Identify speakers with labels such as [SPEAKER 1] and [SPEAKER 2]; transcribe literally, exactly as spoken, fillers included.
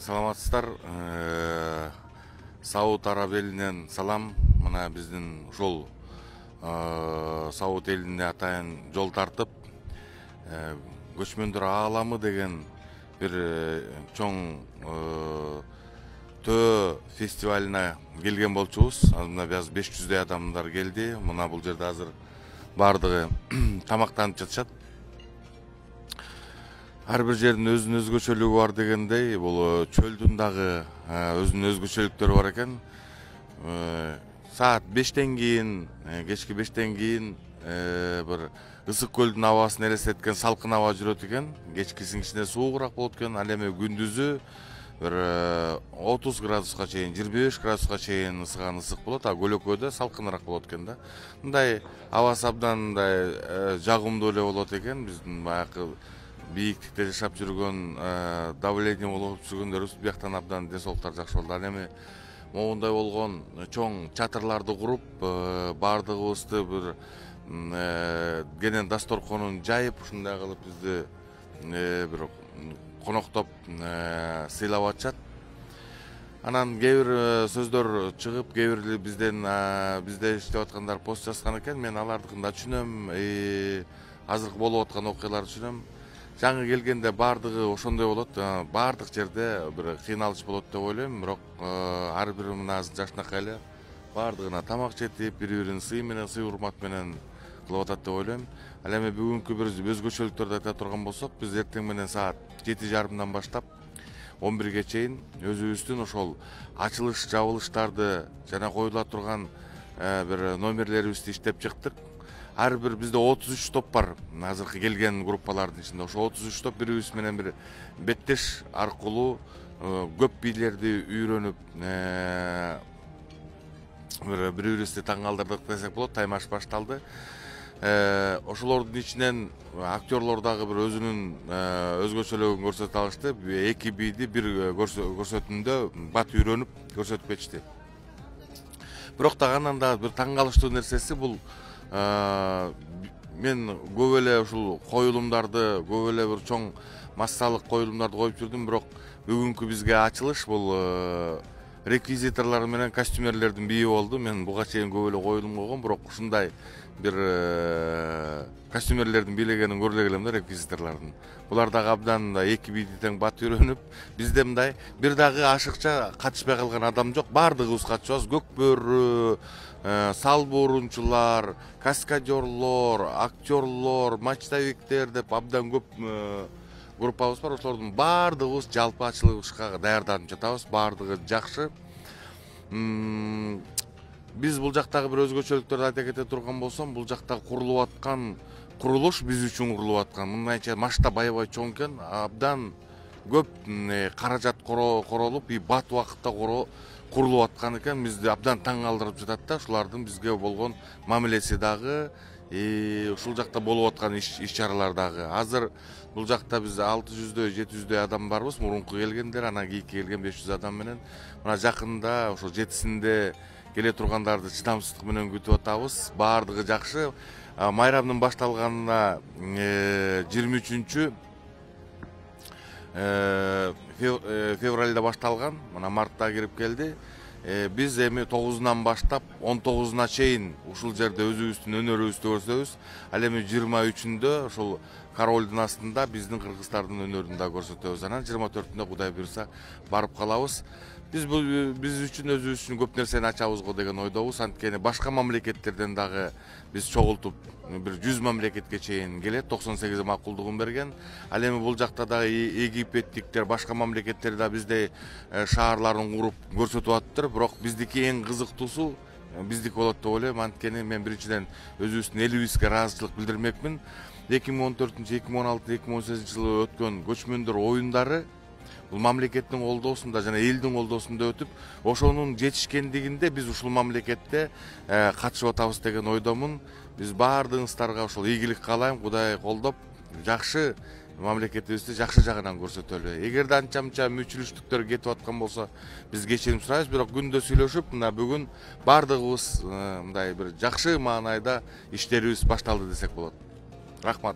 [SPEAKER 1] Саламатсыздар. Сауд Араб элинен салам. Мына биздин ушул Сауд элине атайын жол тартып, көчмөндөр ааламы деген бир чоң төө фестивалына келген болчубуз. Мына биз беш жүздөй адамдар келди. Мына бул жерде азыр бардыгы тамактанып жатышат. Ар бир жердин өзүнүн өзгөчөлүгү бар дегендей, бул чөлдүн дагы өзүнүн өзгөчөлүктөрү бар экен. Саат бештен кийин, кечки бештен кийин бир ысык көлдүн абасын элестеткен салкын аба жүрөт экен. Кечкисин кичине суугураак болот экен, ал эми күндүзү бир отуз градуска чейин, жыйырма беш градуска чейин ысыган ысык болот, а көлөкөдө салкыныраак болот экен да. Мындай абасы абдан мындай жагымдуу эле болот экен. Биздин баягы бийиктикте жашап жүргөн, давление болуп жүргөндөрүбүз бияктан абдан ден соолуктар жакшы болду. Ал эми могундай болгон чоң чатырларды куруп, баардыгыбызды бир кенен дасторконун жайып, ушундай кылып бизди бир коноктоп сыйлап атышат. Анан кээ бир сөздөр чыгып, кээ бир бизден бизде иштеп аткандар пост жазган экен. Мен алардыкын да түшүнөм, азыркы болуп аткан окуяларды түшүнөм. Жаңы келгенде баардыгы ошондой болот. Баардык жерде бир кыйналыш болот деп ойлойм, бирок ар бири мына жашынакай эле баардыгына тамак жетип, бири-бирин сый менен, сый урмат менен кылып атат деп ойлойм. Ал эми бүгүнкү бир өзгөчөлүктөрдү айта турган болсок, биз эртең менен саат жети жарымдан баштап он бирге чейин өзүбүздүн ошол ачылыш, жабылыштарды жана коюла турган бир номерлерибизди иштеп чыктык. Ар бир бизде отуз үч топ бар. Азыркы келген группалардын ичинде ошо отуз үч топ бири-бирибиз менен бир беттеш аркылуу көп бийлерди үйрөнүп, бир бири-бирибизди таң калтырдык десек болот. Таймаш башталды. Ошолордун ичинен актерлор дагы бир өзүнүн өзгөчөлүгүн көрсөтө алышты. Эки бийди бир көрсөтүүндө бат үйрөнүп көрсөтүп кетишти. Бирок дагы андан да бир таң калыштуу нерсеси бул мен көп эле ушул коюлумдарды, көп эле бир чоң массалык коюлумдарды коюп жүрдүм, бирок бүгүнкү бизге ачылыш бул реквизиторлор менен костюмерлердин бийи болду. Мен буга чейин көп эле коюлум койгом, бирок ушундай бир костюмерлердин бийлегенин көрө элем да, реквизиторлордун. Булар дагы абдан мындай эки бийди тең бат үйрөнүп, бизде мындай бир дагы ашыкча катышпай калган адам жок. Баардыгыбыз катышабыз. Көкбөрү, салбы урунчулар, каскадерлор, актерлор, мачтовиктер деп абдан көп группабыз бар. Ошолордун баардыгыбыз жалпы ачылышка даярданып жатабыз. Баардыгы жакшы. Биз бул жактагы бир өзгөчөлүктөрдү айта кете турган болсом, бул жакта курулуп аткан курулуш биз үчүн курулуп аткан. Мындайча масштаб аябай чоң экен. Абдан көп каражат королуп, бат убакытта курулуп аткан экен. Бизди абдан таң калтырып жатат да. Ушулардын бизге болгон мамилеси дагы, ушул жакта болуп аткан иш-чаралар дагы. Азыр бул жакта биз алты жүздөй, жети жүздөй адам барбыз. Мурунку келгендер, анан кийинки келген беш жүз адам менен. Мына жакында ошо жетисинде келе тургандарды чыдамсыздык менен күтүп атабыз. Баардыгы жакшы. Майрамдын башталганына жыйырма үчүнчү февралда башталган, мына мартта кирип келди. Биз эми тогузунан баштап он тогузуна чейин ушул жерде өзүбүздүн өнөрүбүздү көрсөтөбүз. Ал эми жыйырма үчүндө ушул королдун астында биздин кыргыздардын өнөрүн да көрсөтөбүз. Анан жыйырма төртүндө Кудай буйрса барып калабыз. Биз биз үчүн өзүбүз үчүн көп нерсени ачабыз го деген ойдобуз. Анткени башка мамлекеттерден дагы биз чогултуп бир жүз мамлекетке чейин келет. токсон сегиз макулдугун берген. Ал эми бул жакта дагы египеттиктер, башка мамлекеттер да биздей шаарларын куруп көрсөтүп атыптыр. Бирок биздики эң кызыктуусу биздики болот деп ойлойм. Анткени мен биринчиден өзүбүздүн элибизге ыраазычылык билдирмекмин. эки миң он төртүнчү, эки миң он алтынчы, эки миң он сегизинчи жылы өткөн көчмөндөр оюндары бул мамлекеттин колдоосунда жана элдин колдоосунда өтүп, ошонун жетишкендигинде биз ушул мамлекетте катышып атабыз деген ойдомун. Биз баардыгыңыздарга ошол ийгилик каалайм. Кудай колдоп, жакшы мамлекетибизди жакшы жагынан көрсөтөлү. Эгерде анча-мынча мүчүлүштүктөр кетип аткан болсо, биз кечирим сурайбыз. Бирок күндө сүйлөшүп, мына бүгүн баардыгыбыз мындай бир жакшы маанайда иштерибиз башталды десек болот. Рахмат.